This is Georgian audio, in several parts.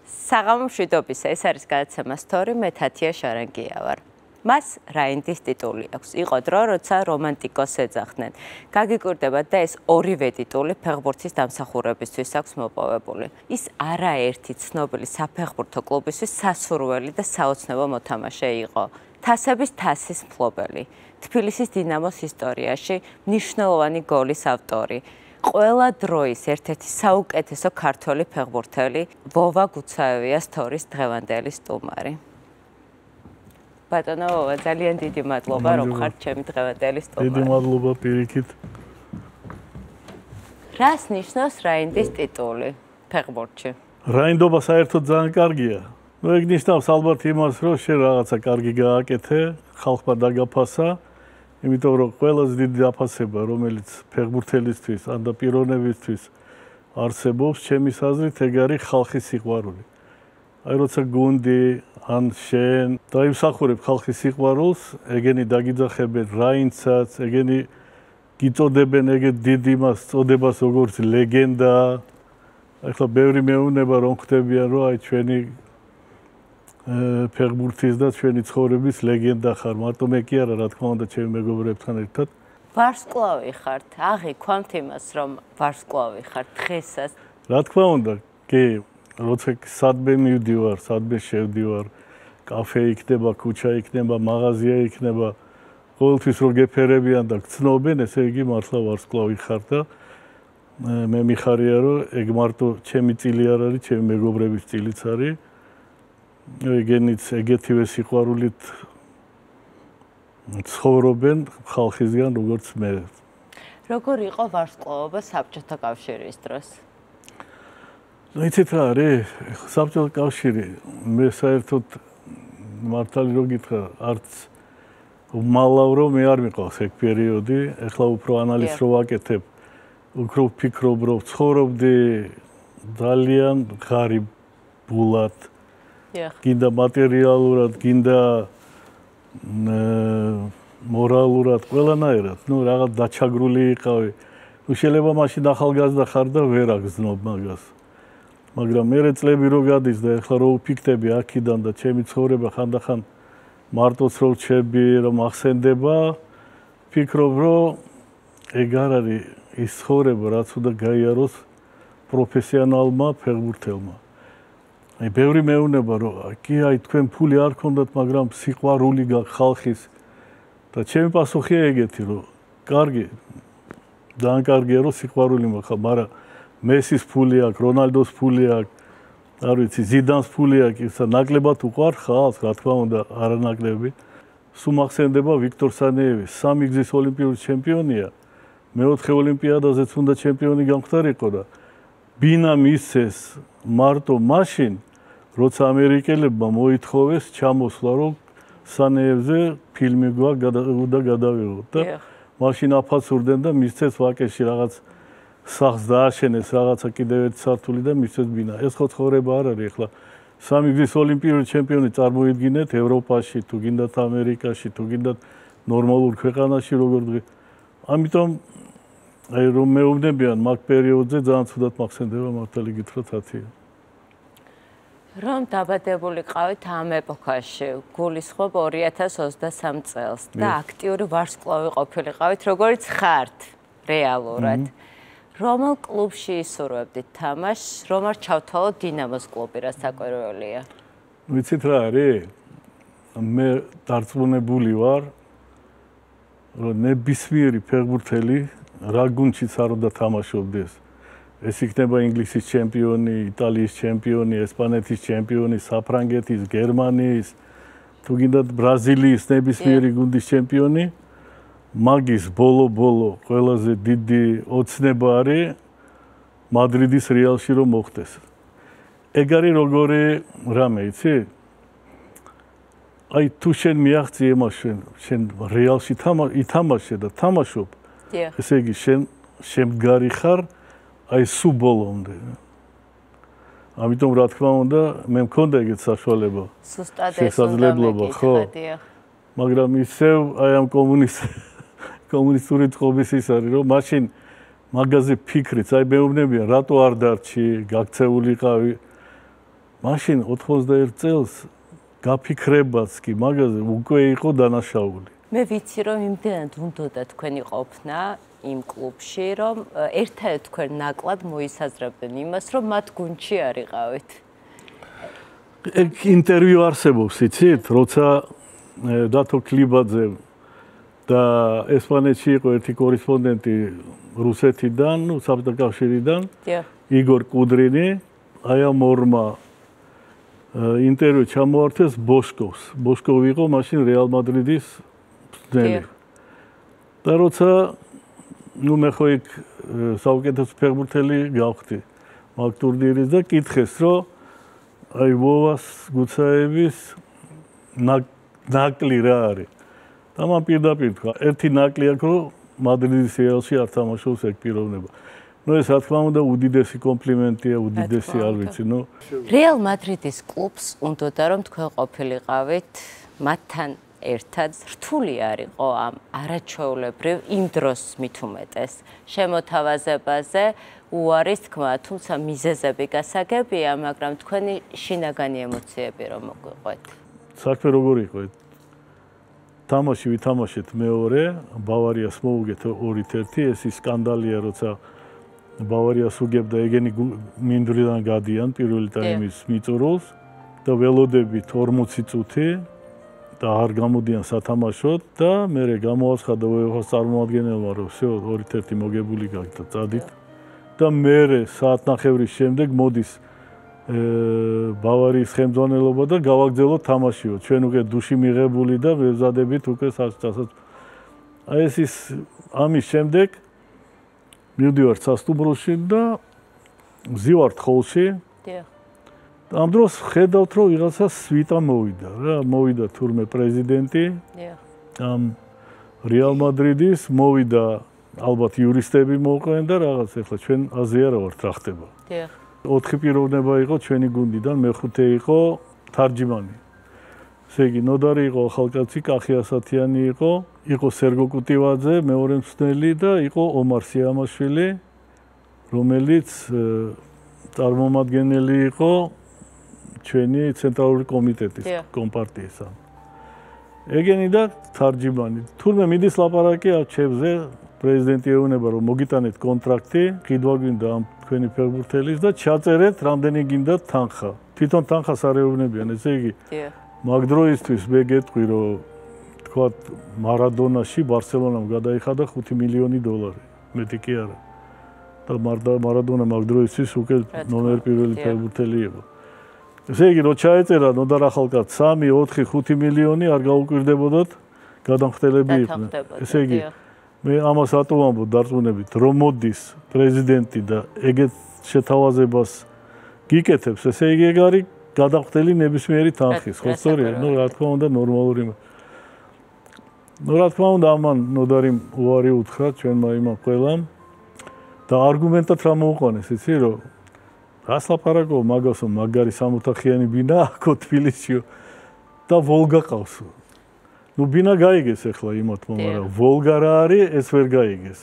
საღამო მშვიდობისა, ეს არის გადაცემა სტორი, მე თათია შარანგია ვარ. მას რაინდის ტიტული აქვს. იყო დრო, როცა რომანტიკოს ეძახდნენ. გაგიკვირდებათ და ეს ორივე ტიტული ფეხბურთის დამსახურებისთვის აქვს მოპოვებული. ის არაერთი ცნობილი საფეხბურთო კლუბისთვის სასურველი და საოცნებო მოთამაშე იყო. თასების თასის მფლობელი. თბილისის დინამოს ისტორიაში მნიშვნელოვანი გოლის ავტორი. ყველა დროის ერთ-ერთი საუკეთესო ქართველი ფეხბურთელი ვოვა გუცაევია სტორის დღევანდელი სტუმარი. ბატონო ვოვა, ძალიან დიდი მადლობა, რომ ხართ ჩემი დღევანდელი სტუმარი. დიდი მადლობა პირიქით. რას ნიშნავს რაინდის ტიტული ფეხბურთში? რაინდობა საერთოდ ძალიან კარგია. ეგ ნიშნავს ალბათ იმას, რომ შენ რაღაცა კარგი გააკეთე, ხალხმა დაგაფასა. იმიტომ რომ ყველაზე დიდი დაფასება, რომელიც ფეხბურთელისთვის ან და პიროვნებისთვის არსებობს, ჩემის აზრით, ეგ არის ხალხის სიყვარული. აი როცა გუნდი ან შენ დაიმსახურებ ხალხის სიყვარულს, ეგენი დაგიძახებენ რაინდსაც, ეგენი გიწოდებენ ეგეთ დიდ იმას წოდებას, როგორც ლეგენდა. ახლა ბევრი მეუბნება რომ ხვდებიან, რომ აი ჩვენი ფეხბურთის და ჩვენი ცხოვრების ლეგენდა ხარ. მარტო მე კი არა, რა თქმა უნდა, ჩემი მეგობრებთან ერთად. ვარსკვლავი ხართ, აღიქვამთ იმას, რომ ვარსკვლავი ხართ დღესაც. რა თქმა უნდა, კი, როცა სადმე მივდივარ, სადმე შევდივარ, კაფე იქნება, ქუჩა იქნება, მაღაზია იქნება, ყოველთვის რო გეფერებიან და გცნობენ, ესე იგი მართლა ვარსკვლავი ხარ და მე მიხარია, რომ ეგ მარტო ჩემი წილი არ არის, ჩემი მეგობრების წილიც არის. ეგენიც ეგეთივე სიყვარულით ცხოვრობენ ხალხისგან, როგორც მე. როგორ იყო ვარსკვლავობა საბჭოთა კავშირის დროს? იცით რა არის? საბჭოთა კავშირი მე საერთოდ მართალი რო გითხრა, არც უმალავ რომ მე არ მიყავს ეგ პერიოდი, ეხლა უფრო ანალიზს რო ვაკეთებ, უფრო ვფიქრობ, რომ ცხოვრობდი ძალიან ღარიბულად. გინდა მატერიალურად, გინდა მორალურად, ყველანაირად, ნუ რაღაც დაჩაგრული იყავი. ნუ შეიძლება მაშინ ახალგაზრდა ხარ და ვერ აგზნობ მაგას. მაგრამ მერე წლები რო გადის და ეხლა რო ვფიქრდები აქედან და ჩემი ცხოვრება ხანდახან მარტოც რო ვჩები, რომ ახსენდება, ფიქრობ, რომ ეგ არ არის ის ცხოვრება, რაც უნდა გაიაროს პროფესიონალმა ფეხბურთელმა. აი ბევრი მეუბნება რომ კი აი თქვენ ფული არ გქონდათ, მაგრამ სიყვარული გაქვთ ხალხის და ჩემი პასუხია ეგეთი რომ კარგი ძალიან კარგია რომ სიყვარული მაქვს, მაგრამ მესის ფული აქვს, რონალდოს ფული აქვს, არ ვიცი, ზიდანს ფული აქვს, ისა ნაკლებად უყვარ ხალხს, რა თქმა უნდა, არანაკლები. სულ მახსენდება ვიქტორ სანეევის, 3 გზის ოლიმპიური ჩემპიონია, მეოთხე ოლიმპიადაზეც უნდა ჩემპიონი გამختارიყო და ბინა მისცეს მარტო მაშინ როცა ამერიკელებმა მოითხოვეს ჩამოსვლა, რომ სანეევზე ფილმი გვაქვს და გადავიღოთ და მაშინ აფასურდნენ და მისცეს ვაკეში რაღაც სახლს დააშენეს, რაღაცა კიდევ ერთი სართული და მისცეს ბინა. ეს ხო ცხოვრება არ არის ახლა. 3 გზის ოლიმპიური ჩემპიონი წარმოიდგინეთ ევროპაში, თუ გინდათ ამერიკაში, თუ გინდათ ნორმალურ ქვეყანაში როგორ დღე. ამიტომ აი რომ მეუბნებიან მაგ პერიოდზე ძალიან ცუდად მახსენდება მართალი გითხრათ თათია. რომ დაბადებული ყავით ამ ეპოქაში, გულისხმობ 2023 წელს და აქტიური ვარსკვლავი ყოფილიყავით, როგორც ხართ რეალურად. რომელ კლუბში ისურვებდით თამაშს, რომ არ ჩავთვალოთ დინამოს კლუბი, რა საკვირველია? ვიცით რა არის? მე დარწმუნებული ვარ, რომ ნებისმიერი ფეხბურთელი რა გუნდშიც არ უნდა თამაშობდეს. ეს იქნება ინგლისის ჩემპიონი, იტალიის ჩემპიონი, ესპანეთის ჩემპიონი, საფრანგეთის, გერმანიის, თუ გინდათ ბრაზილიის ნებისმიერი გუნდის ჩემპიონი, მაგის ბოლო ყველაზე დიდი ოცნება არის მადრიდის რეალში რომ მოხდეს. ეგ არის როგორი რამე, იცი? აი თუ შენ მიაღწი იმას შენ რეალში ითამაშე და თამაშობ, ესე იგი შენ შემდგარი ხარ აი სულ ბოლომდე. ამიტომ რა თქმა უნდა, მე მქონდა ეგეთ საშუალება. შესაძლებლობა, ხო? მაგრამ ისევ აი ამ კომუნისტური წყობის ის არის, რომ მაშინ მაგაზე ფიქრიც, აი მეუბნებიან, რატო არ დარჩი, გაქცეულიყავი. მაშინ 91 წელს გაფიქრებაც კი მაგაზე უკვე იყო დანაშაული. მე ვიცი რომ იმდენად უნდოდა თქვენი ყოფნა იმ კლუბში, რომ ერთადერთად თქვენ ნაკლად მოისაზრებდნენ იმას, რომ მათ გუნდში არიყავით. ეგ ინტერვიუ არსებობს, იცით, როცა დათო კლიბაძე და ესპანეთში იყო ერთი კორესპონდენტი რუსეთიდან, საბჭოთა კავშირიდან, იგორ კუდრინი, აი ამ ორმა ინტერვიუ ჩამოართვეს ბოშკოვს. ბოშკოვი იყო მაშინ რეალ მადრიდის მწვრთნელი. და როცა მე ხო იქ საუკეთესო ფეხბურთელი გავხდი მაგ ტურნირის და კითხეს, რომ აი ვოვას გუცაევის ნაკლი რა არის. და მან პირდაპირ თქვა, ერთი ნაკლი აქვს, რომ მადრიდის რეალში არ თამაშობს ეგ პიროვნება. ეს რა თქმა უნდა უდიდესი კომპლიმენტია, უდიდესი არ ვიცი, რეალ მადრიდის კლუბს უნდოდა რომ თქვენ ყოფილიყავით მათთან ერთად რთული არ იყო ამ არაჩვეულებრივ იმ დროს მით უმეტეს შემოთავაზებაზე უარის თქმა, თუმცა მიზეზები გასაგებია, მაგრამ თქვენი შინაგანი ემოციები რომ მოგვიყვეთ. საქმე როგორ იყო? თამაში ვითამაშეთ მეორე, ბავარიას მოუგეთ 2-1, ეს სკანდალია, როცა ბავარიას უგებდა ეგენი მინდვრიდან გადიან პირველი ტაიმის მიწურულს და ველოდებით 40 წუთი და არ გამოდიან სათამაშოდ და მერე გამოაცხადა უეფას წარმომადგენელმა, რომ всё 2-1 მოგებული გაქვს და წადით და მერე საათნახევრის შემდეგ მოდის ბავარიის ხელმძღვანელობა და გავაგრძელოთ თამაშიო. ჩვენ უკვე დუში მიღებული და ვეზადებით უკვე საერთოდ. აი ეს ის ამის შემდეგ მივდივართ სასტუმროში და ვზივართ ხოლში. ამ დროს ხედავთ, რომ ვიღაცა სვიტა მოვიდა რა, მოვიდა თურმე პრეზიდენტი. ამ რეალ მადრიდის მოვიდა ალბათ იურისტები მოყვნენ და რაღაც ახლა ჩვენ აზე არა ვართ რა ხდება. 4 პიროვნება იყო ჩვენი გუნდიდან, მეხუთე იყო თარჯიმანი. ესე იგი, ნოდარი იყო ახალკაცი, კახი ასათიანი იყო სერგო კუტივაძე, მეორე მწვრთნელი და იყო ომარ სიამაშვილი, რომელიც წარმომადგენელი იყო ჩვენი ცენტრალური კომიტეტის კომპარტიისა. ეგენი და თარჯიმანი. თურმე მიდის ლაპარაკი არჩევზე, პრეზიდენტი ეუბნება, რომ მოგიტანეთ კონტრაქტი, ყიდვა გვინდა ამ თქვენი ფეხბურთელის და ჩაწერეთ რამდენი გინდათ თანხა. თვითონ თანხას არ ეუბნებიან, ესე იგი. მაგ დროისთვის მე გეტყვი, რომ თქვათ მარადონაში ბარსელონამ გადაიხადა 5 მილიონი დოლარი. მეტი კი არა. და მარადონა მაგ დროისთვის უკვე ნომერ პირველი ფეხბურთელი იყო. ესე იგი, რო ჩაეწერა ნოდარ ახალკაც 3, 4, 5 მილიონი არ გაუკვირდებოდათ გადამხდელები იყვნენ. ესე იგი, მე ამას რატო ვამბობ დარწმუნებით, რომ მოდის პრეზიდენტი და ეგეთ შეთავაზებას გიკეთებს, ესე იგი ეგ არის გადამხდელი ნებისმიერი თანხის, ხო სწორია? რა თქმა უნდა ნორმალური. რა თქმა უნდა ამან ნოდარი უარი უთხრა ჩვენმა იმამ ყველამ და არგუმენტად რა მოუყვანეს, იცი რომ რას ლაპარაკობ მაგასო მაგარი სამოთახიანი ბინა აქო თბილისშიო და ვოლგა ყავს. ბინა გაიგეს ახლა იმათმა, მაგრამ ვოლგა რა არის, ეს ვერ გაიგეს.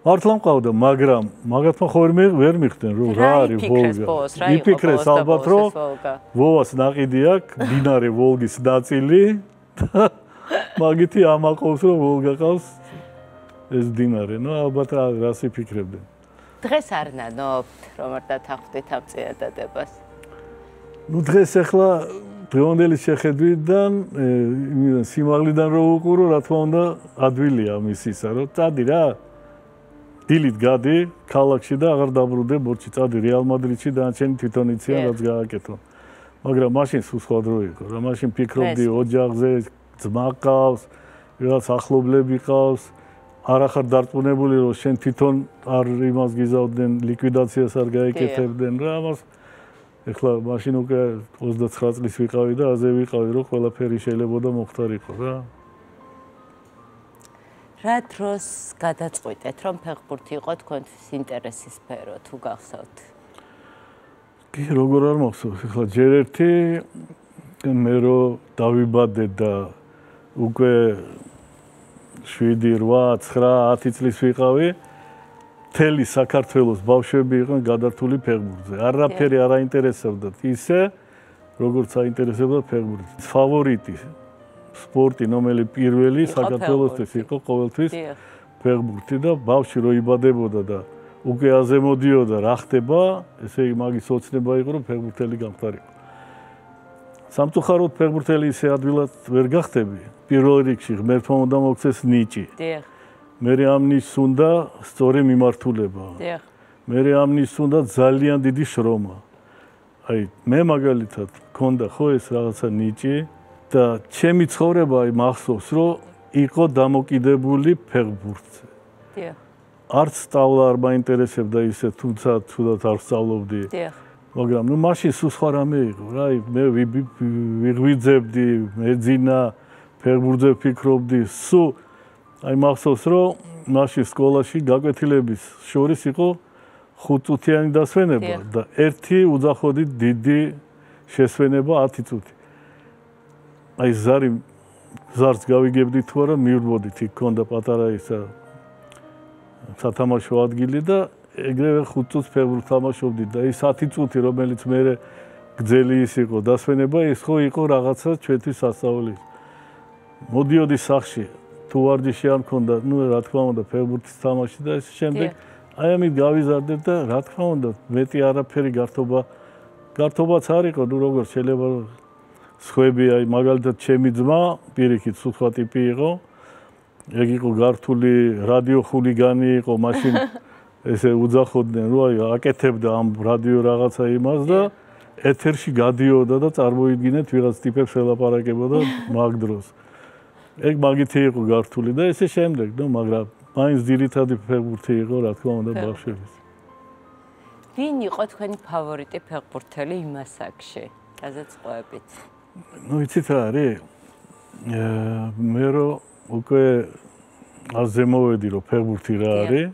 მართლა მყავდა, მაგრამ მაგათმა ხო ვერ მიხდნენ, რომ რა არის ვოლგა. იფიქრეს ალბათ, რომ ვოვას ნაყიდი აქვს, დინარე ვოლგის ნაწილი და მაგითი ამაყობს, რომ ვოლგა ყავს ეს დინარე. ალბათ რას იფიქრებდნენ. დღეს არ ნანობთ, რომ არ დათანხმდით ამ წინადადებას? დღეს ახლა დღევანდელი შეხედვიდან სიმაღლიდან რო უყურო, რა თქმა უნდა, ადვილია მისისა, რომ წადი რა. დილით გადი ქალაქში და აღარ დაბრუნდე ბორჩი, წადი რეალ მადრიდში და ჩენი თვითონ იციან რაც გააკეთო. მაგრამ მაშინ სულ სხვა დრო იყო. რა მაშინ ფიქრობდი ოჯახზე, ძმა ყავს, რაღაც ახლობლები ყავს. არახარ დარწმუნებული რომ შენ თვითონ არ იმას გიზავდნენ, ლიკვიდაციას არ გაიკეთებდნენ რა ამას. ეხლა მაშინ უკვე 29 წლის ვიყავი და აზე ვიყავი რომ ყველაფერი შეიძლება და მოხდარიყო რა. რა დროს გადაწყვიტეთ რომ ფეხბურთი იყო თქვენთვის ინტერესის სფერო თუ გახსოვთ? კი, როგორ არ მახსოვს, ეხლა ჯერ ერთი მე რომ დავიბადე და უკვე 7, 8, 9, 10 წლის ვიყავი მთელი საქართველოს ბავშვები იყვნენ გადართული ფეხბურთზე. არაფერი არ აინტერესებდათ ისე, როგორც აინტერესებდა ფეხბურთი. ფავორიტი სპორტი, რომელიც პირველი საქართველოსთვის იყო ყოველთვის ფეხბურთი და ბავშვი რო იბადებოდა და უკვე აზემოდიოდა რა ხდება, ესე იგი მაგის ოცნება იყო, რომ ფეხბურთელი გამხდარიყო. სამწუხაროდ ფეხბურთელი ისე ადვილად ვერ გახდები. პირველ რიგში ღმერთმა უნდა მოგცეს ნიჭი. მერე ამ ნიშს უნდა სწორი მიმართულება. მერე ამ ნიშს უნდა ძალიან დიდი შრომა. აი, მე მაგალითად მქონდა ხო ეს რაღაცა ნიჭი და ჩემი ცხოვრება აი მახსოვს, რომ იყო დამოკიდებული ფეხბურთზე. არც სწავლა არ მაინტერესებდა ისე, თუმცა თუდად არ სწავლობდი. მაგრამ ნუ მაშინ სულ სხვა რამე იყო რა, მე ვიღვიძებდი, მეძინა, ფეხბურთზე ვფიქრობდი, სულ აი მახსოვს, რომ მაშინ სკოლაში გაკვეთილების შორის იყო 5 წუთიანი დასვენება და ერთი უძახოდით დიდი შესვენება 10 წუთი. აი ზარს გავიგებდი თუ არა მივრბოდით, იქ ქონდა პატარა ისა სათამაშო ადგილი და ეგრევე 5 წუთს ფეხბურთს თამაშობდით და ის 10 წუთი რომელიც მე გძელი ის იყო დასვენება, ეს ხო იყო რაღაცა ჩვენთვის სასწაული. მოდიოდი სახში თუ ვარჯიში არ მქონდა, ნუ რა თქმა უნდა ფეხბურთის თამაში და ეს შემდეგ აი ამით გავიზარდებ და რა თქმა უნდა მეტი არაფერი გართობაც არ იყო, ნუ როგორ შეიძლება სხვები აი მაგალითად ჩემი ძმა პირიქით სხვა ტიპი იყო. ეგ იყო გართული რადიო ხულიგანი იყო, მაშინ ესე უძახოდნენ, რომ აი აკეთებდა ამ რადიო რაღაცა იმას და ეთერში გადიოდა და წარმოიდგინეთ ვიღაც ტიპებს ელაპარაკებოდა მაგ დროს. ეგ მაგითი იყო გართული და ესე შემდეგ, ნუ მაგრამ მაინც ძირითადი ფეხბურთი იყო, რა თქმა უნდა, ბავშვების. ვინ იყო თქვენი ფავორიტი ფეხბურთელი იმ ასაკში? გაზეწყვეტით. ნუ იცით რა არის? მე რო უკვე აზემოვედი რომ ფეხბურთი რა არის.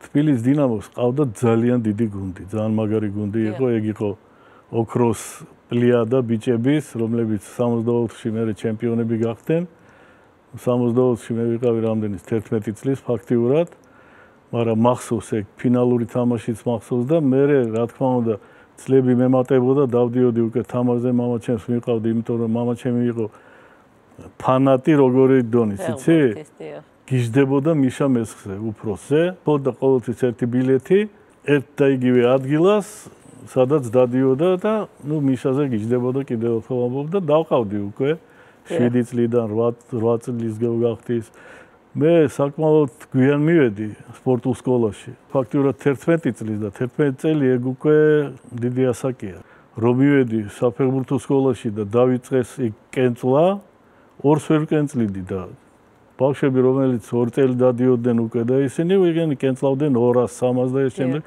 თბილისის დინამოს ყავდა ძალიან დიდი გუნდი, ძალიან მაგარი გუნდი იყო, ეგ იყო ოქროს პლიადა ბიჭების, რომლებიც 64-ში მერე ჩემპიონები გახდნენ. 64-ში მე ვიყავი რამდენის 11 წლის ფაქტიურად, მაგრამ მახსოვს ეგ ფინალური თამაშიც მახსოვს და მე რა თქმა უნდა წლები მემატებოდა, დავდიოდი უკვე თამაშზე, მამაჩემს მიყავდი, იმიტომ რომ მამაჩემი იყო ფანატი როგორი დონის, იცი? გიждდებოდა მიშა მესხზე, უფროსზე, ხოდა ყოველთვის ერთი ბილეთი, ერთ და იგივე ადგილას, სადაც დადიოდა და ნუ მიშაზე გიждდებოდა კიდევ ერთხელ ამბობ და დავყავდი უკვე 7 წლიდან 8 წლის გავხდის. მე საკმაოდ გვიან მივედი სპორტულ სკოლაში. ფაქტიურად 11 წლის და 11 წელი ეგ უკვე დიდი ასაკია. რომ მივედი საფეხბურთო სკოლაში და დავიწყეს იქ კენწლა, ორს ვერ კენწლიდი და ბავშვები რომელიც 2 წელი დადიოდნენ უკვე და ისინი ვიღენი კენწლავდნენ 200, 300 და ეს შემდეგ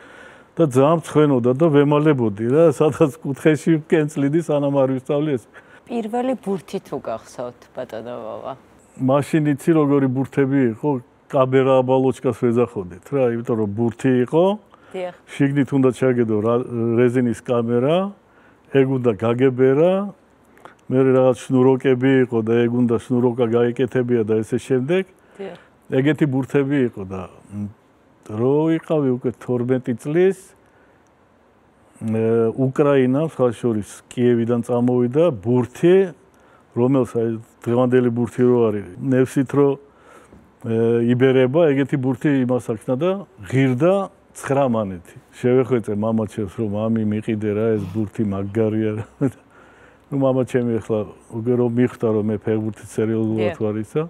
და ძალიან მცხენოდა და ვემალებოდი რა, სადაც კუთხეში კენწლიდი სანამ არ ვისწავლი ეს. პირველი ბურთი თუ გახსოვთ, ბატონო ვავა? მაშინ იცი როგორი ბურთები იყო, კამერა ბალოჩკას ვეძახოდეთ რა, იმიტომ რომ ბურთი იყო. შიგნით უნდა ჩაგედო რეზინის კამერა, ეგ უნდა გაგებერა. მე რაღაც შნუროკები იყო და ეგ უნდა შნუროკა გაიკეთებია და ესე შემდეგ. ეგეთი ბურთები იყო და რო ვიყავი უკვე 12 წლის უკრაინამ სხვა შორის კიევიდან წამოვიდა ბურთი, რომელსაც დღევანდელი ბურთი რო არის, ნევსით რო იბერება, ეგეთი ბურთი იმას აქნა და ღირდა 9 მანეთი. შევეხვეწე მამაჩემს რომ მამი მიყიდე რა ეს ბურთი მაგარია რა. ნუ მამაჩემი ახლა უკვე რომ მიხვდა რომ მე ფეხბურთით სერიოზულად ვარ ისა,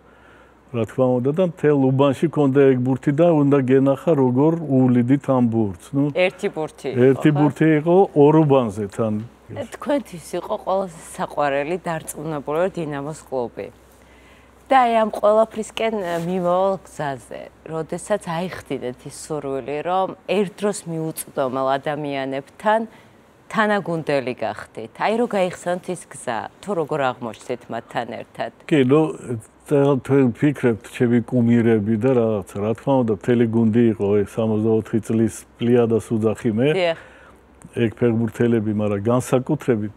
რა თქმა უნდა და მთელ უბანში ქონდა ეგ ბურთი და უნდა გენახა როგორ უვლიდით ამ ბურთს. ნუ ერთი ბურთი იყო ორ უბანზე თან. თქვენთვის იყო ყველაზე საყვარელი დარწმუნებული დინამოს კლუბი. და აი ამ ყველაფრისკენ მიმავალ გზაზე, როდესაც აიხდიდეთ ის სურვილი, რომ ერთ დროს მიუწვდომელ ადამიანებთან თანაგუნდელი გახდით. აი რო გაიხსენოთ ის გზა, თუ როგორ აღმოჩნდით მათთან ერთად. კი, ნუ თქვენ ფიქრებთ ჩემი კუმირები და რაღაცა, რა თქმა უნდა, მთელი გუნდი იყო ეს 64 წლის პლიადას უძახი მე. ეგ ფეხბურთელები, მაგრამ განსაკუთრებით,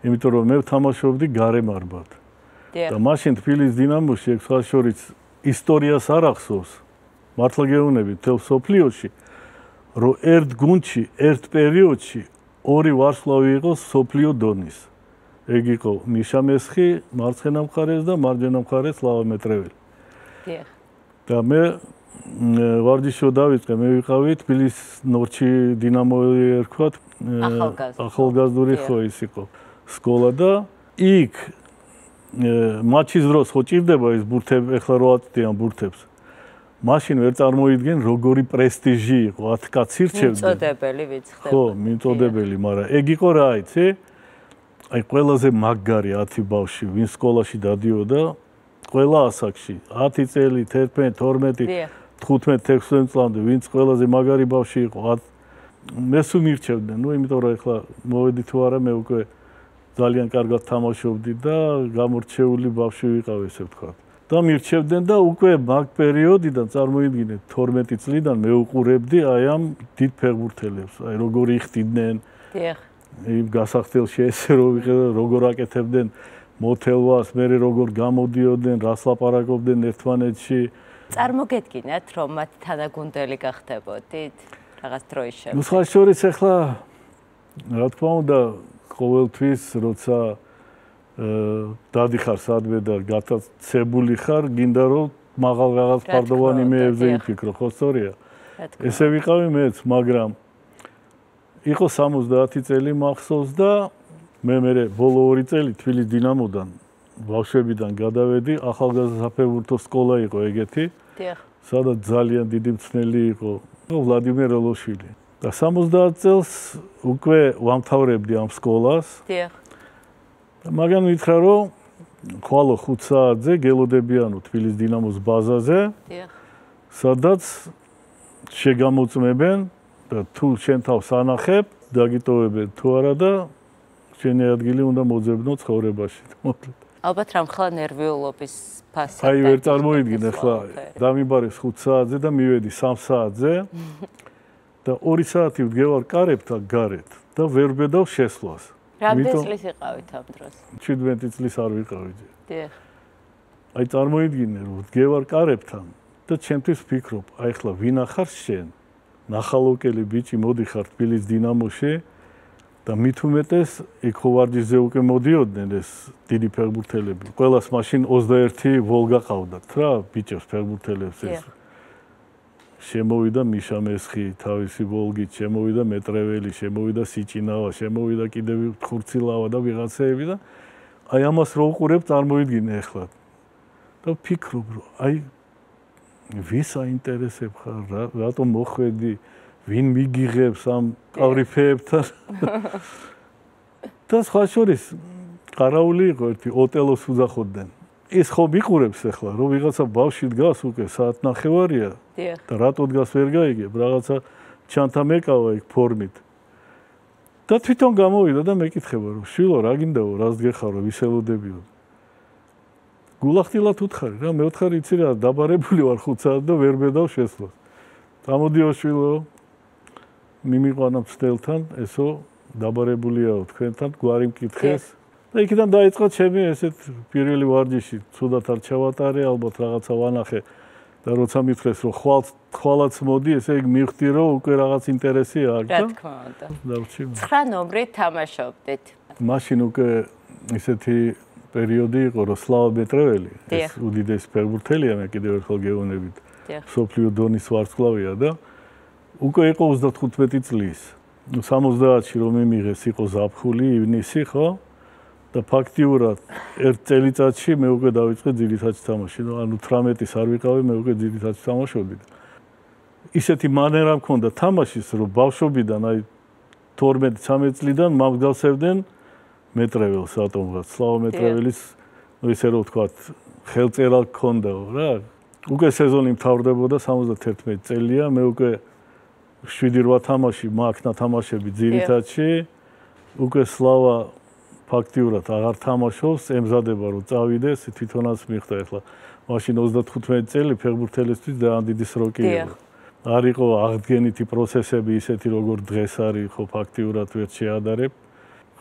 იმიტომ რომ მე ვთამაშობდი გარემარბად. და მაშინ თბილისის დინამოში ეგ სხვა შორის ისტორიას არ ახსოვს. მართლა გეუბნები თელ სოფლიოში, რომ ერთ გუნდში, ერთ პერიოდში ორი ვარსკვლავი იყო სოფლიო დონის. ეგ იყო მიშა მესხი, მარცხენა მხარეს და მარჯვენა მხარეს სლავა მეტრეველი. დიახ. და მე ვარჯიშო დავიწყე, მე ვიყავი თბილისის ნორჩი დინამოელი ერქვათ, ახალგაზრდული ხო ის იყო სკოლა და იქ მატჩის დროს ხო ჭირდება ის ბურთები, ეხლა რო აწვდიან ბურთებს. მაშინ ვერ წარმოიდგენ როგორი პრესტიჟი იყო, 10 კაცი ირჩევდნენ. მიწოდებელი ვიც ხდება. ხო, მიწოდებელი, მაგრამ ეგ იყო რა იცი? აი ყველაზე მაგარი 10 ბავშვი, ვინ სკოლაში დადიოდა, ყველა ასაკში, 10 წელი, 11, 12, 15-16 წლამდე, ვინც ყველაზე მაგარი ბავშვი იყო, მე სულ მირჩევდნენ, ნუ იმიტომ რომ ეხლა მოვედი თუ არა, მე უკვე ძალიან კარგად თამაშობდი და გამორჩეული ბავშვი ვიყავ, ესე ვთქვათ. და მირჩევდნენ და უკვე მაგ პერიოდიდან წარმოიდგინეთ 12 წლიდან მე უყურებდი აი ამ დიდ ფეხბურთელებს, აი როგორ იხდიდნენ. დიახ. იმ გასახდელში ესე როგორ აკეთებდნენ მოთელვას, მე როგორ გამოდიოდნენ, რას ლაპარაკობდნენ ერთმანეთში. წარმოგედგინათ, რომ მათ თანაგუნდელი გახდებოდით რაღაც დროის შემდეგ. ნუ სხვა შორის ახლა რა თქმა უნდა ყოველთვის როცა დადიხარ სადმე და გატაცებული ხარ, გინდა რომ მაღალ რაღაც ფარდოვან იმეებზე იფიქრო, ხო სწორია? ესე ვიყავი მეც, მაგრამ იყო 70 წელი მახსოვს და მე ბოლო 2 წელი თბილისის დინამოდან ბავშვებიდან გადავედი, ახალგაზრდა საფეხბურთო სკოლა იყო ეგეთი. დიახ. სადაც ძალიან დიდი მწვრთნელი იყო ვლადიმერ ელოშვილი. და 70 წელს უკვე ვამთავრებდი ამ სკოლას. დიახ. მაგრამ მითხრა რომ ხვალო 5 საათზე გელოდებიანო თბილისის დინამოს ბაზაზე. დიახ. სადაც შეგამოწმებენ და თუ შენ თავს ანახებ, დაგიტოვებენ თუ არა და შენი ადგილი უნდა მოძებნო ცხოვრებაში. ალბათ რამხელა ნერვიულობის ფასად. აი ვერ წარმოიდგინე ახლა დამიბარეს 5 საათზე და მივედი 3 საათზე და 2 საათი ვდგევარ კარებთან გარეთ და ვერ ვბედავ შესვლას. რამდენი წლის იყავით ამ დროს? 17 წლის არ ვიყავი. დიახ. აი წარმოიდგინე რომ ვდგევარ კარებთან და ჩემთვის ვფიქრობ, აი ახლა ვინახარ შენ? ნახალოკელი ბიჭი მოდიხარ თბილისის დინამოში და მით უმეტეს იქ ხო ვარჯიშზე უკვე მოდიოდნენ ეს დიდი ფეხბურთელები. ყველას მაშინ 21 ვოლგა ყავდათ რა, ბიჭებს ფეხბურთელებს ეს. შემოვიდა მიშა მესხი თავისი ვოლგით, შემოვიდა მეტრეველი, შემოვიდა სიჭინავა, შემოვიდა კიდევ ხურცილავა და ვიღაცეები და აი ამას რო უყურებ, წარმოიდგინე ახლა. და ვფიქრობ, რომ აი ვის აინტერესებ ხარ, რატომ მოხვედი, ვინ მიგიღებს ამ ყავრიფეებთან. და სხვა შორის ყარაული იყო ერთი ოტელოს უძახოდნენ. ის ხო მიყურებს ახლა, რომ ვიღაცა ბავშვი დგას უკვე საათნახევარია და რატო დგას ვერ გაიგებ, რაღაცა ჩანთა მეკავა იქ ფორმით. და თვითონ გამოვიდა და მეკითხება, რომ შვილო, რა გინდაო, რას გეხარო, ვისელოდებიო. გულახდილად უთხარი რა, მე ვთხარი, იცი რა, დაბარებული ვარ 5 საათს და ვერ ვბედავ შესვლას. გამოდიო შვილო, მიმიყვანა მცდელთან, ესო დაბარებულიაო თქვენთან, გვარი მკითხეს. და იქიდან დაიწყო ჩემი ესეთ პირველი ვარჯიში, ცუდად არ ჩავატარე, ალბათ რაღაცა ვანახე და როცა მითხრეს, რომ ხვალაც მოდი, ესე იგი მივხვდი, რომ უკვე რაღაც ინტერესი აქვს და რა თქმა უნდა. დავჩი. 9 ნომრით თამაშობდით. მაშინ უკვე ესეთი პერიოდი იყო, რომ სლავა მეტრეველი, ეს უდიდესი ფეხბურთელია, მე კიდევ ერთხელ გეუბნებით. სოფლიო დონის ვარსკვლავია და უკვე იყო 35 წლის. 70-ში რომ მიმიღეს იყო ზაფხული, ივნისი, ხო? და ფაქტიურად ერთ წელიწადში მე უკვე დავიწყე ძირითადში თამაში. ანუ 18-ის არ ვიყავი, მე უკვე ძირითადში თამაშობდი. ისეთი მანერა მქონდა თამაშის, რომ ბავშვობიდან აი 12-13 წლიდან მომგავსებდნენ მეტრეველს რატომღაც. სლავა მეტრეველის, ისე რომ ვთქვათ, ხელწერა გქონდაო რა. უკვე სეზონი მთავრდებოდა 71 წელია, მე უკვე 7-8 თამაში მაქვს თამაშები ძირითადში. უკვე სლავა ფაქტიურად აღარ თამაშობს, ემზადება რომ წავიდეს, თვითონაც მიხდა ახლა. მაშინ 35 წელი ფეხბურთელისთვის ძალიან დიდი სროკი იყო. არ იყო აღდგენითი პროცესები ისეთი როგორ დღეს არის, ხო ფაქტიურად ვერ შეადარებ.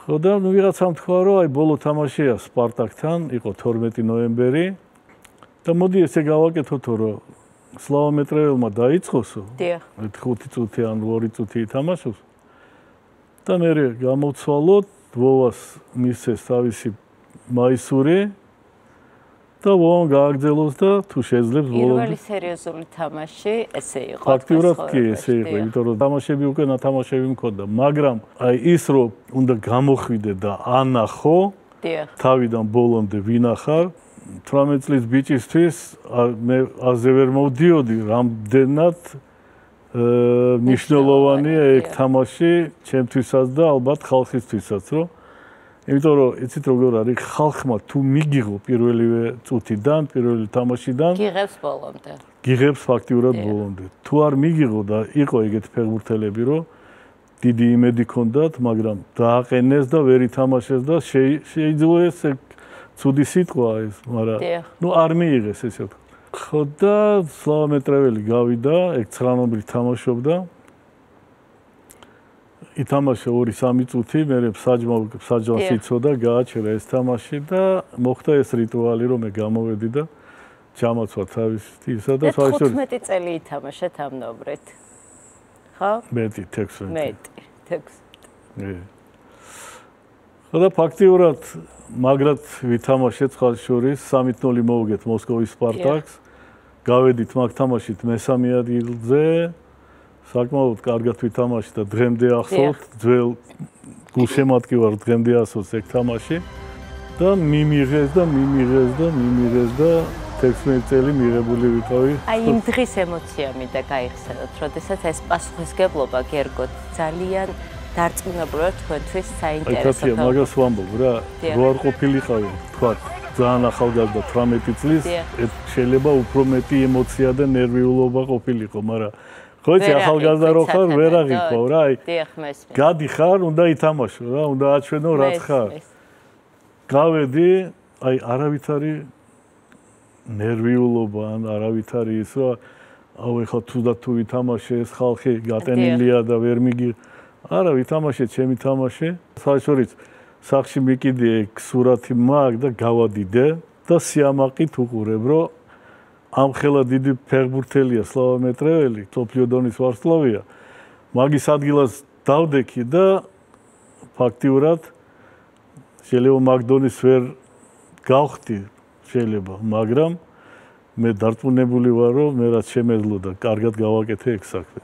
ხო და ნუ ვიღაცამ თქვა რომ აი ბოლო თამაშია სპარტაკთან, იყო 12 ნოემბერი და მოდი ესე გავაკეთოთ რომ სლავომეტრეველმა დაიწყოსო. დიახ. 5 წუთი ან 2 წუთი ითამაშოს. და მე გამოცვალოთ, ვოვას მისცეს თავისი მაისური და ვოვამ გააგრძელოს და თუ შეძლებს პირველი სერიოზული თამაში ესე იყო. ფაქტიურად კი ესე იყო, იმიტომ რომ თამაშები უკვე ნათამაშები მქონდა, მაგრამ აი ის რომ უნდა გამოხვიდე და ანახო, თავიდან ბოლომდე ვინახარ 18 წლის ბიჭისთვის მე აზე ვერ მოვდიოდი, რამდენად მნიშვნელოვანია ეგ თამაში ჩემთვისაც და ალბათ ხალხისთვისაც, რომ იმიტომ რომ იცით როგორ არის ხალხმა თუ მიგიღო პირველივე წუთიდან, პირველი თამაშიდან გიღებს ბოლომდე. გიღებს ფაქტიურად ბოლომდე. თუ არ მიგიღო და იყო ეგეთი ფეხბურთელები, რომ დიდი იმედი ჰქონდათ, მაგრამ დააყენეს და ვერ ითამაშეს და შეიძლება ეს ცუდი სიტყვაა ეს, მაგრამ ნუ არ მიიღეს ესე ვთქვა. ხო და სლავომეტრეველი გავიდა, ეგ 9 თამაშობდა. ითამაშა 2-3 წუთი, მერე საჯმას იცოდა, გააჩერა ეს თამაში და მოხდა ეს რიტუალი, რომ მე გამოვედი და ჩამოცვა თავის ისა და საერთოდ 15 წელი ითამაშა თამნობრეთ. ხო? მეტი 16. მეტი 16. ხო და ფაქტიურად მაგრად ვითამაშეთ ხალხშორის 3-0 მოვუგეთ მოსკოვის სპარტაკს. გავედით მაგ თამაშით მესამე ადგილზე. საკმაოდ კარგად ვითამაშეთ და დღემდე ახსოვთ, ძველ გულშემატკივარ დღემდე ახსოვს ეგ თამაში და მიმიღეს და 16 წელი მიღებული ვიყავი. აი იმ დღის ემოცია მინდა გაიხსენოთ, როდესაც ეს პასუხისგებლობა გერგოთ ძალიან დარწმუნებულად თქვენთვის საინტერესო. აი, მაგას ვამბობ რა, რო არ ყოფილიყავი, თქვა, ძალიან ახალგაზრდა 18 წლის, შეიძლება უფრო მეტი ემოცია და ნერვიულობა ყოფილიყო, მაგრამ ხო იცი ახალგაზრდა რო ხარ, ვერ აღიქვავ რა, აი. გადიხარ, უნდა ითამაშო რა, უნდა აჩვენო რაც ხარ. გავედი, აი არავითარი ნერვიულობა ან არავითარი ის რა, აუ ეხლა თუ ვითამაშე ეს ხალხი გატენილია და ვერ მიგი არა ვითამაშე ჩემი თამაში. საერთოდ სახში მიკიდე ეგ სურათი მაგ და გავადიდე და სიამაყით უყურებ, რომ ამ ხელა დიდი ფეხბურთელია სლავომეტრეველი, სოფლიო დონის ვარსკვლავია. მაგის ადგილას დავდექი და ფაქტიურად შეიძლება მაგ დონის ვერ გავხდი შეიძლება, მაგრამ მე დარწმუნებული ვარ, რომ მე რაც შემეძლო და კარგად გავაკეთე ეგ საქმე.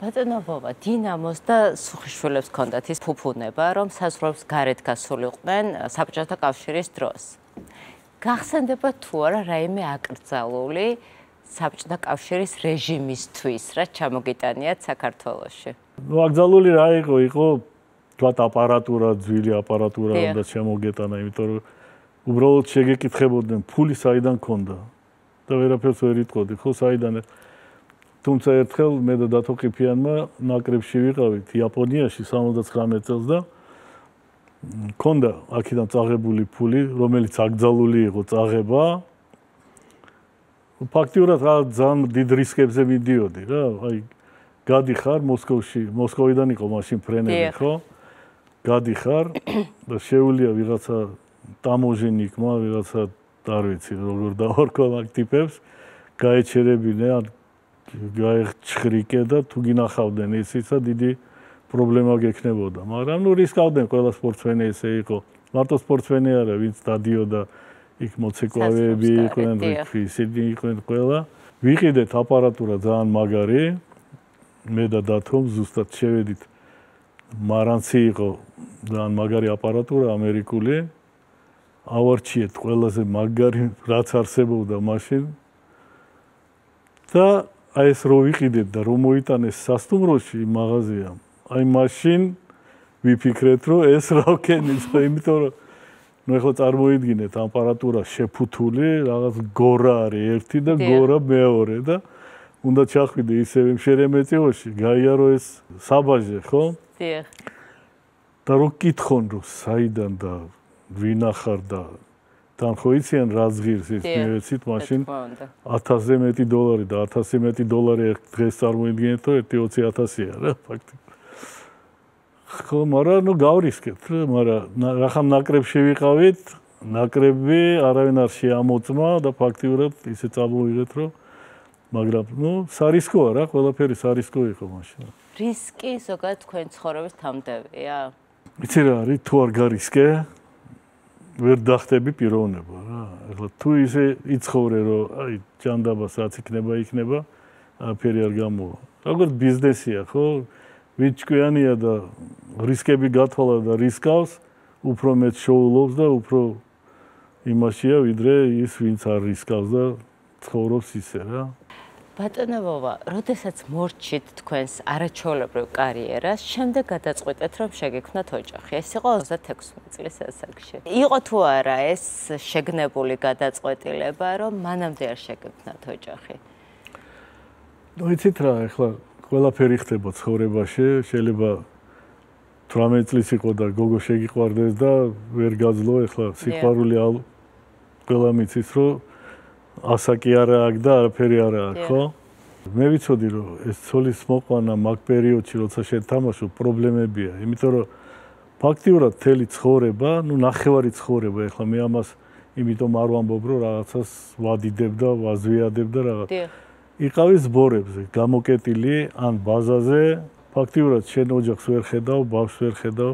ბატონო ვოვა, დინამოს და სუხიშვილებს ჰქონდათ ის ფუფუნება, რომ საზღვრებს გარეთ გასულიყვნენ საბჭოთა კავშირის დროს. გახსენდება თუ არა რაიმე აკრძალული საბჭოთა კავშირის რეჟიმისთვის, რაც ჩამოგიტანიათ საქართველოში? ნუ აკრძალული რა იყო თქვათ აპარატურა, ძვილი აპარატურა უნდა შემოგეტანა, იმიტომ რომ უბრალოდ შეგეკითხებოდნენ ფული საიდან ქონდა და ვერაფერს ვერ იტყოდი, ხო საიდან თუმცა ერთხელ მე და დათო ყიფიანმა ნაკრებში ვიყავით იაპონიაში 79 წელს და ქონდა აქედან წაღებული ფული, რომელიც აკრძალული იყო წაღება. ფაქტიურად რა ძალიან დიდ რისკებზე მიდიოდი რა, აი გადიხარ მოსკოვში, მოსკოვიდან იყო მაშინ ფრენები, ხო? გადიხარ და შეუულია ვიღაცა ტამოჟენიკმა, ვიღაცა არ ვიცი როგორ დავარქვა მაგ ტიპებს, გაეჩერებინე ან გაეჩხრიკე და თუ გინახავდნენ ისიც დიდი პრობლემა გექნებოდა. მაგრამ ნუ რისკავდნენ ყველა სპორტსმენი ესე იყო. მარტო სპორტსმენი არა, ვინც დადიოდა იქ მოცეკვავეები იყვნენ, ისინი იყვნენ ყველა. ვიყიდეთ აპარატურა ძალიან მაგარი. მე და დათომ ზუსტად შევედით. მარანცი იყო ძალიან მაგარი აპარატურა ამერიკული. ავარჩიეთ ყველაზე მაგარი რაც არსებობდა მაშინ. და აი ეს რო ვიყიდეთ და რომ მოიტანეს სასტუმროში მაღაზიამ. აი მაშინ ვიფიქრეთ რომ ეს რა ვქენით, იმიტომ რომ ნუ ეხლა წარმოიდგინეთ აპარატურა შეფუთული, რაღაც გორა არის ერთი და გორა მეორე და უნდა ჩახვიდე ისევ შერემეტიოში, გაიარო ეს საბაჟე, ხო? დიახ. და რო კითხონ რომ საიდან და ვინახარ და თან ხო იციან რა ზღირს ის მეცით მაშინ $1000-ზე მეტი დოლარი და $1000 მეტი დოლარი დღეს წარმოიდგინეთ რომ 20,000-ია რა ფაქტი. ხო, მაგრამ ნუ გავრისკეთ, მაგრამ რახან ნაკრებში ვიყავით, ნაკრები არავინ არ შეამოწმა და ფაქტიურად ისე წამოვიღეთ რომ მაგრამ სარისკოა რა, ყველაფერი სარისკო იყო მაშინ. რისკი ზოგადად თქვენ ცხოვრების თამდევია? იცი რა არის, თუ არ გარისკე, ვერ დახტები პიროვნება რა. ეხლა თუ ისე იცხოვრე, რომ აი ჯანდაბას რაც იქნება, აფერი არ გამოვა. როგორც ბიზნესია, ხო? ვინც ჭკვიანია და რისკები გათვალა და რისკავს, უფრო მეტ შოულობს და უფრო იმაშია, ვიდრე ის, ვინც არ რისკავს და ცხოვრობს ისე რა. ბატონო ვოვა, როდესაც მორჩით თქვენს არაჩვეულებრივ კარიერას, შემდეგ გადაწყვეტეთ, რომ შეგექმნათ ოჯახი. ეს იყო 26 წლის ასაკში. იყო თუ არა ეს შეგნებული გადაწყვეტილება, რომ მანამდე არ შეგექმნათ ოჯახი? იცით რა, ეხლა ყველაფერი ხდება ცხოვრებაში, შეიძლება 18 წლის იყო და გოგო შეგიყვარდეს და ვერ გაძლო, ეხლა სიყვარული ყველა მიცის, რომ ასაკი არა აქვს და არაფერი არა აქვს, ხო? მე ვიცოდი, რომ ეს ცოლის მოყვანა მაგ პერიოდში, როცა შენ თამაშობ, პრობლემებია, იმიტომ რომ ფაქტიურად მთელი ცხოვრება, ნახევარი ცხოვრება, ეხლა მე ამას იმიტომ არ ვამბობ, რომ რაღაცას ვადიდებ და ვაზვიადებ და რაღაც. იყავი ზბორებზე, გამოკეტილი ან ბაზაზე, ფაქტიურად შენ ოჯახს ვერ ხედავ, ბავშვს ვერ ხედავ.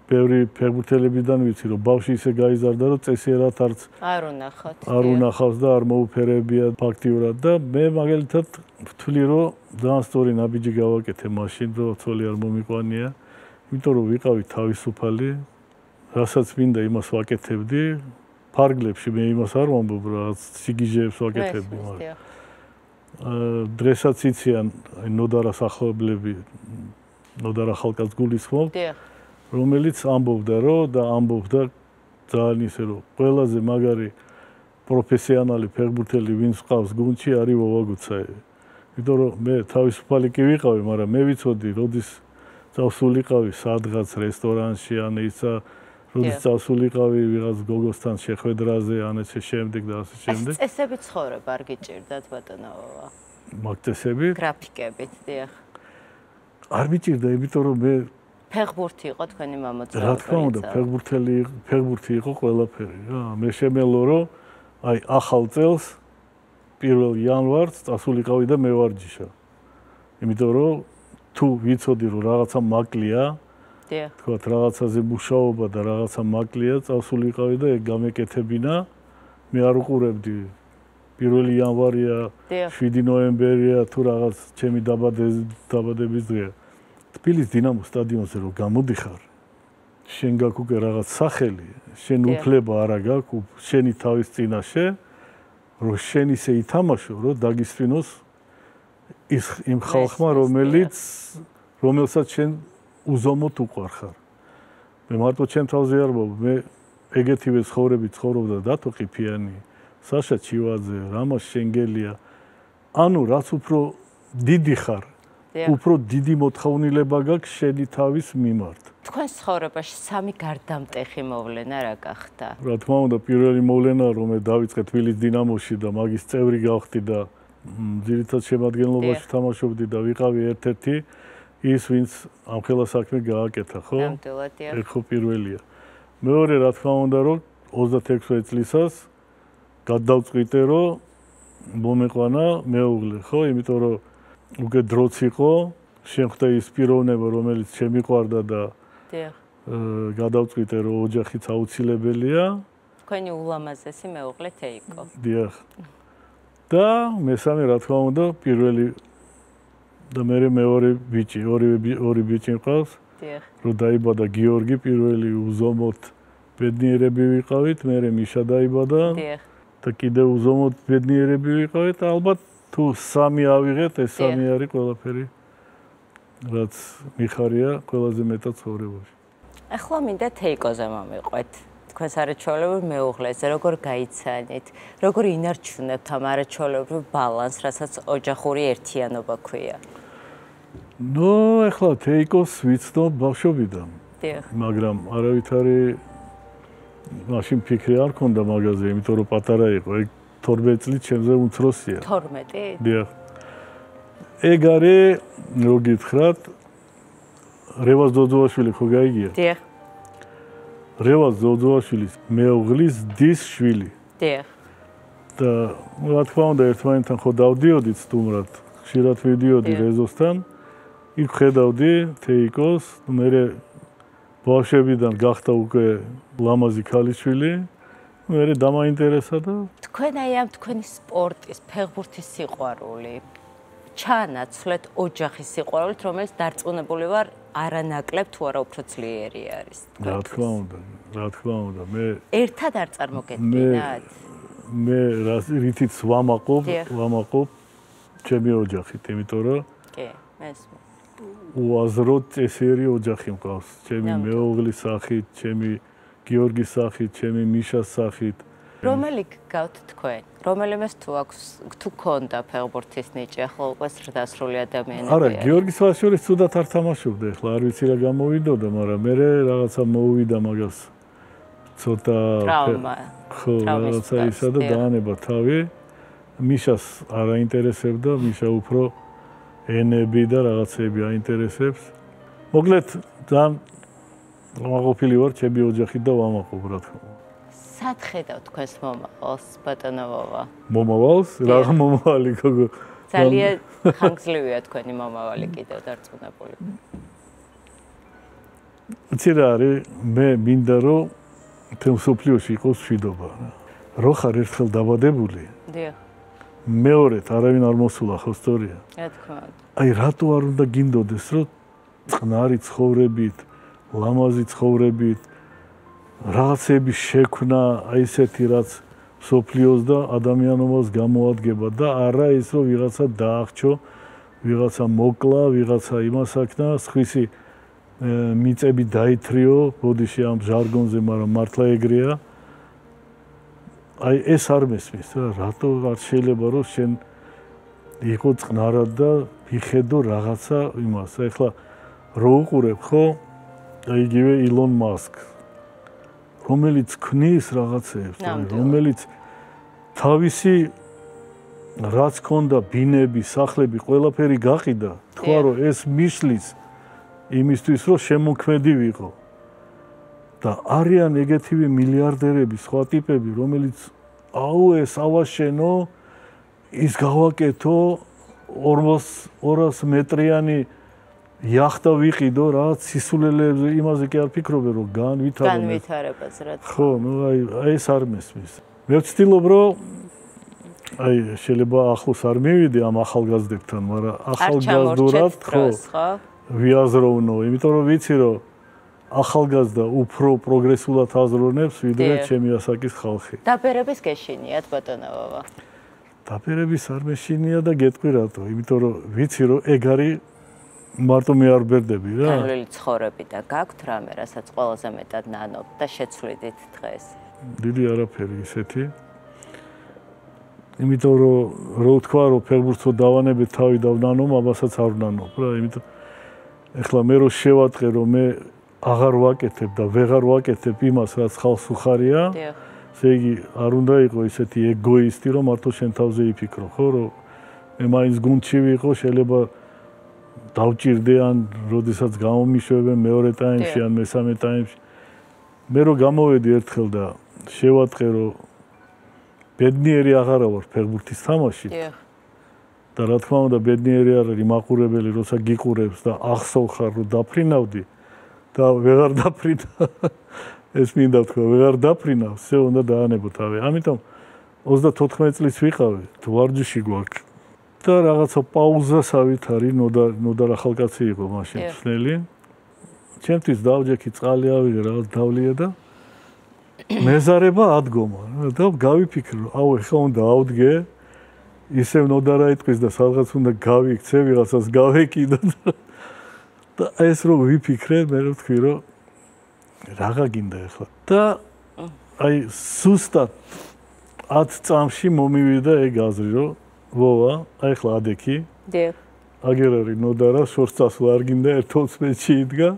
ბევრი ფეხბურთელებიდან ვიცი, რომ ბავშვი ისე გაიზარდა, რომ წესიერად არ უნახავს და არ მოუფერებია ფაქტიურად და მე მაგალითად ვთვლი, რომ ძალიან სწორი ნაბიჯი გავაკეთე მაშინ, რომ ცოლი არ მომიყვანია, იმიტომ რომ ვიყავი თავისუფალი, რასაც მინდა იმას ვაკეთებდი, ფარგლებში მე იმას არ ვამბობ, რაღაც სიგიჟეებს ვაკეთებდი, მაგრამ დრესაც იციან ნოდარა სახლობლები, ნოდარა ხალხს გულისხმობ, რომელიც ამბობდა ძალიან ისე რომ ყველაზე მაგარი პროფესიონალი ფეხბურთელი ვინც ყავს გუნდში არის ვოვა გუცაევი. იმიტომ რომ მე თავისუფალი კი ვიყავი, მაგრამ მე ვიცოდი, როდის წავსულიყავი სადღაც რესტორანში, ან ისა როდის წავსულიყავი ვიღაც გოგოსთან შეხვედრაზე, ან ესე შემდეგ და ასე შემდეგ. წესები ცხოვრება არ გიჭირდათ ბატონო ვოვა? მაგ წესები? გრაფიკებით, დიახ. არ მიჭირდა, იმიტომ რომ მე ფეხბურთი იყო თქვენი მამოძრავებელი. რა თქმა უნდა, ფეხბურთი იყო ყველაფერი რა. მე შემელო რომ აი ახალ წელს 1 იანვარს წასულიყავი და მე ვარჯიშა. იმიტომ რომ თუ ვიცოდი რომ რაღაცა მაკლია, თქვათ რაღაცაზე მუშაობა და რაღაცა მაკლია, წასულიყავი და ეგ გამეკეთებინა, მე არ უყურებდი 1 იანვარია, 7 ნოემბერია თუ რაღაც ჩემი დაბადების დღეა. თბილისის დინამოს სტადიონზე რომ გამოდიხარ, შენ გაქვს უკვე რაღაც სახელი, შენ უფლება არა გაქვს, შენი თავის წინაშე, რომ შენ ისე ითამაშო, რომ დაგისვინოს იმ ხალხმა, რომელსაც შენ უზომოდ უყვარ ხარ. მე მარტო ჩემ თავზე არ ვამბობ, მე ეგეთივე ცხოვრებით ცხოვრობდა დათო ყიფიანი, საშა ჩივაძე, რამაზ შენგელია. ანუ რაც უფრო დიდი ხარ, უფრო დიდი მოთხოვნილება გაქვს შენი თავის მიმართ. თქვენს ცხოვრებაში სამი გარდამტეხი მოვლენა რა გახდა? რა თქმა უნდა, პირველი მოვლენა, რომ მე დავიწყე თბილისის დინამოში და მაგის წევრი გავხდი და ძირითად შემადგენლობაში თამაშობდი და ვიყავი ერთ-ერთი ის, ვინც ამ ხელა საქმე გააკეთა, ხო? ნამდვილად. ხო პირველია. მეორე რა თქმა უნდა, რომ 26 წლისას გადავწყვიტე, რომ მომეყვანა მეუღლე, ხო? იმიტომ რომ უკვე დროც იყო, შემხდა ის პიროვნება, რომელიც შემიყვარდა და გადავწყვიტე, რომ ოჯახიც აუცილებელია. თქვენი ულამაზესი მეუღლე თეიკო. დიახ. და მესამე რა თქმა უნდა, პირველი და მე მეორე ბიჭი, ორი ბიჭი მყავს. დიახ. რომ დაიბადა გიორგი, პირველი უზომოდ ბედნიერები ვიყავით, მე მიშა დაიბადა. დიახ. და კიდევ უზომოდ ბედნიერები ვიყავით, ალბათ თუ სამი ავიღეთ, ეს სამი არის ყველაფერი, რაც მიხარია ყველაზე მეტად ცხოვრებაში. ახლა მინდა თეიკოზე მომიყვეთ. თქვენს არაჩვეულებრივ მეუღლეზე, როგორ გაიცანით, როგორ ინარჩუნებთ ამ არაჩვეულებრივ ბალანსს, რასაც ოჯახური ერთიანობა ქვია? ახლა თეიკოს ვიცნობ ბავშვობიდან. მაგრამ არავითარი მაშინ ფიქრი არ ქონდა მაგაზე, იმიტომ რომ პატარა იყო. ეგ 12 წლით ჩემზე უმცროსია. 12? დიახ. ეგ არის, რო გითხრათ, რევაზ ძოძოაშვილი ხო გაიგია? დიახ. რევაზ ძოძოაშვილის მეუღლის დის შვილი. დიახ. და რა თქმა უნდა ერთმანეთთან ხო დავდიოდით სტუმრად, ხშირად ვიდიოდი რეზოსთან. იქ ხედავდი თეიკოს, მე ბავშვებიდან გახდა უკვე ლამაზი ქალიშვილი. მე დამაინტერესა და თქვენ აი ამ თქვენი სპორტის, ფეხბურთის სიყვარული ჩაანაცვლეთ ოჯახის სიყვარულით, რომელიც დარწმუნებული ვარ არანაკლებ თუ არა უფრო ძლიერი არის. რა თქმა უნდა, მე ერთად არ წარმოგედგინათ? მე რითიც ვამაყობ ჩემი ოჯახით, იმიტომ რომ კი, მესმე. უაზროდ წესიერი ოჯახი მყავს, ჩემი მეუღლის სახით, ჩემი გიორგის სახით, ჩემი მიშას სახით. რომელი გგავთ თქვენ? რომელიმეს თუ აქვს, თუ ქონდა ფეხბურთის ნიჭი, ახლა უკვე ზრდასრული ადამიანები. არა, გიორგის ვაშორის ცუდად არ თამაშობდა, ახლა არ ვიცი რა გამოვიდოდა, მაგრამ მე რაღაცა მოვიდა მაგას ცოტა ტრავმა. ხო, რაღაცა ისა და დაანება თავი. მიშას არ აინტერესებდა, მიშა უფრო ენები და რაღაცები აინტერესებს. მოკლედ, ძალიან ვამაყობილი ვარ ჩემი ოჯახით და ვამაყობ რა თქმა უნდა. სად ხედავ თქვენს მომავალს, ბატონო ვოვა? მომავალს? რა მომავალი გოგო? ძალიან ხანგრძლივია თქვენი მომავალი კიდევ დარწმუნებული. იცი რა არის, მე მინდა რომ თემ სოფლიოში იყოს მშვიდობა. რო ხარ ერთხელ დაბადებული? დიახ. მეორედ არავინ არ მოსულა ხო სწორია? რა თქმა უნდა. აი რატო არ უნდა გინდოდეს რომ წყნარი ცხოვრებით, ლამაზი ცხოვრებით, რაღაცების შექმნა, აი ესეთი რაც სოფლიოს და ადამიანობას გამოადგება და არა ის რომ ვიღაცა დაახჩო, ვიღაცა მოკლა, ვიღაცა იმასაკნა, სხვისი მიწები დაითრიო, ბოდიში ამ ჟარგონზე, მაგრამ მართლა ეგრეა. აი ეს არ მესმის რა, რატო არ შეიძლება რომ შენ იყო წყნარად და მიხედო რაღაცა იმას. ეხლა რო უყურებ ხო? აი იგივე ილონ მასკს, რომელიც ქნის რაღაცებს, რომელიც თავისი რაც ქონდა ბინები, სახლები, ყველაფერი გაყიდა, თქვა რომ ეს მისლის იმისთვის რომ შემოქმედი ვიყო. და არიან ეგეთივე მილიარდერები, სხვა ტიპები, რომელიც აუ ეს ავაშენო, ის გავაკეთო 200 მეტრიანი იახტა ვიყიდო, რაც სისულელებზე იმაზე კი არ ფიქრობენ, რომ განვითარებას რა თქმა უნდა. ხო, ნუ აი ეს არ მესმის. მე ვცდილობ, რომ აი შეიძლება ახლოს არ მივიდე ამ ახალგაზრდებთან, მაგრამ ახალგაზრდურად ხო ვიაზროვნო, იმიტომ რომ ვიცი რომ ახალგაზრდა უფრო პროგრესულად აზროვნებს, ვიდრე ჩემი ასაკის ხალხი. დაბერების გეშინიათ ბატონო ვოვა? დაბერების არ მეშინია და გეტყვი რატო, იმიტომ რომ ვიცი რომ ეგ არის მარტო მე არ ბერდები რა. განვლილი ცხოვრებიდან გაქვთ რამე, რასაც ყველაზე მეტად ნანობთ და შეცვლიდით დღეს? დიდი არაფერი ისეთი. იმიტომ რომ რო თქვა რომ ფეხბურთს დავანებეთ თავი დავნანობ, ამასაც არ ვნანობ რა, იმიტომ ეხლა მე რო შევატყე რომ მე აღარ ვაკეთებ და ვეღარ ვაკეთებ იმას რაც ხალხს უხარია. ესე იგი არ უნდა იყო ისეთი ეგოისტი რომ მარტო შენ თავზე იფიქრო, ხო, რომ მე მაინც გუნდში ვიყო, შეიძლება დავჭირდე ან როდესაც გამომიშვებენ მეორე ტაიმში ან მესამე ტაიმში. მე რო გამოვედი ერთხელ და შევატყე რომ ბედნიერი აღარა ვარ ფეხბურთის თამაშით. და რა თქმა უნდა ბედნიერი არ არის მაყურებელი, როცა გიყურებს და ახსოვხარ რომ დაფრინავდი და ვეღარ დაფრინა. ეს მინდა თქვა, ვეღარ დაფრინა, все უნდა დაანებო თავი. ამიტომ 34 წლის ვიყავი, ვარჯიში გვაქვს. და რაღაცა პაუზასავით არის, ნოდარ ახალკაცი იყო მაშინ ხსნელი. ჩემთვის დავჯექი წყალი ავიღე, რაღაც დავლია და მეზარება ადგომა და გავიფიქრე, აუ ეხლა უნდა ავდგე, ისევ ნოდარა იტყვის და სადღაც უნდა გავიქცე, ვიღაცას გავეკიდო და ეს რო ვიფიქრე, მე რო ვთქვი, რომ რაღა გინდა ეხლა. და აი სუსტად 10 წამში მომივიდა ეგ აზრი, რომ ვოვა, აი ახლა ადექი. დიახ. აგერ არის ნოდარა, შორს წასვლა არ გინდა 11-ში იდგა.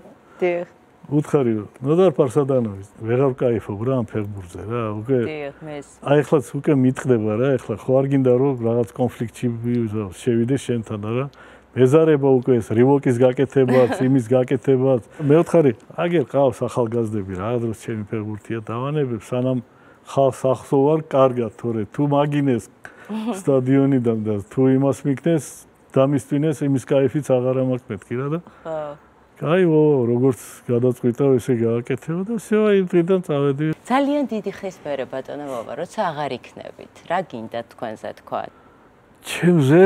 დიახ. უთხარი რომ ნოდარ პარსადანოვის, ვეღარ ვკაიფობ რა ამ ფეხბურთზე რა, უკვე. დიახ, მეს. აი ახლაც უკვე მიტყდება რა, ახლა ხო არ გინდა რომ რაღაც კონფლიქტში შევიდე შენთან რა. მეზარება უკვე ეს რივოკის გაკეთებაც, იმის გაკეთებაც. მე ვთხარი, აგერ ყავს ახალგაზრდები, რა დროს ჩემი ფეხბურთია დავანებებ, სანამ ხალხს ახსოვარ კარგად, თორე თუ მაგინეს სტადიონიდან და თუ იმას მიქნეს, დამისვინეს, იმის кайფიც აღარ მაქვს მეთქი რა და. ხო. კაიო, როგორც გადაწყვიტავ, ესე გააკეთება და всё, იმ დღიდან წავედი. ძალიან დიდი ხის მერე ბატონო მოვა, როცა აღარ იქნებით. რა გინდა თქვენზე თქვა? ჩემზე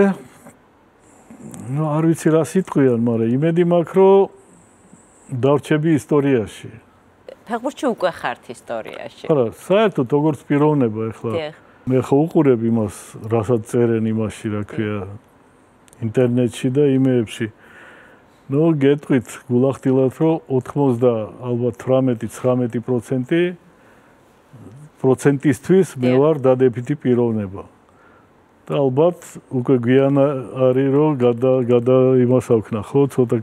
ну, არ ვიცი რა სიტყვიან, მაგრამ იმედი მაქვს, რომ დავრჩები ისტორიაში. ფეხბურთში უკვე ხართ ისტორიაში. არა, საერთოდ როგორც პიროვნება ახლა. მე ხო უყურებ იმას, რასაც წერენ იმაში, რა ქვია, ინტერნეტში და იმეებში. ну, გეტყვით გულახდილად, რომ 80 ალბათ 18-19% პროცენტისთვის მე ვარ დადებითი პიროვნება. და ალბათ უკვე გვიან არის რომ გადა იმას აქვნა ხო ცოტა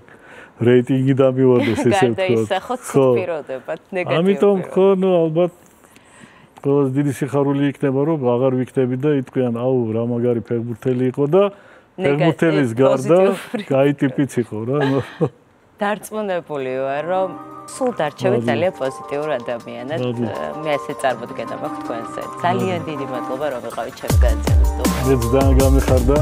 რეიტინგი დამივარდეს ესე ვთქვათ. გადაისახოთ ცუდპიროდებად, ნეგატიურ. ამიტომ ხო, ну, ალბათ ყველაზე დიდი სიხარული იქნება რომ აღარ ვიქნები და იტყვიან, აუ, რა მაგარი ფეხბურთელი იყო და ფეხბურთელის გარდა კაი ტიპიც იყო რა. დარწმუნებული ვარ, რომ სულ დარჩებით ძალიან პოზიტიურ ადამიანად. მე ასე წარმოდგენა მაქვს თქვენზე. ძალიან დიდი მადლობა რომ ვიყავით ჩემს გადაცემის სტუდიაში. მეც ძალიან გამიხარდა.